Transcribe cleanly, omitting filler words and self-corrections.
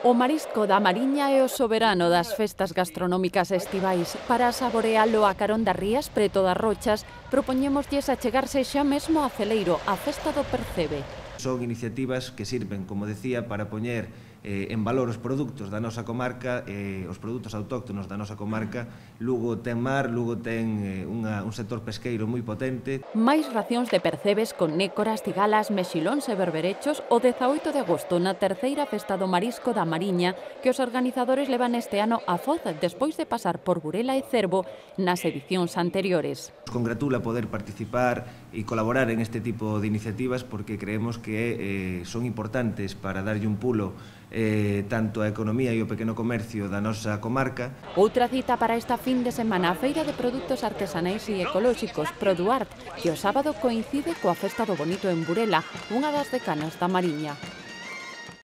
O marisco da Mariña é o soberano das festas gastronómicas estivais. Para saborealo a carón das rías preto das Rochas, propoñémoslles achegarse xa mesmo a Celeiro, a festa do percebe. Son iniciativas que sirven, como decía, para poñer en valor os produtos da nosa comarca, os produtos autóctonos da nosa comarca. Lugo ten mar, Lugo ten un sector pesqueiro moi potente. Máis racións de percebes con nécoras, cigalas, mexilóns e berberechos o 18 de agosto na terceira festa do marisco da Mariña que os organizadores levan este ano a Foz despois de pasar por Burela e Cervo nas edicións anteriores. Nos congratula poder participar e colaborar en este tipo de iniciativas porque creemos que son importantes para darlle un pulo tanto a economía e o pequeno comercio da nosa comarca. Outra cita para esta fin de semana, a Feira de Produtos Artesanais e Ecolóxicos Produart, que o sábado coincide coa Festa do Bonito en Burela, unha das decanas da Mariña.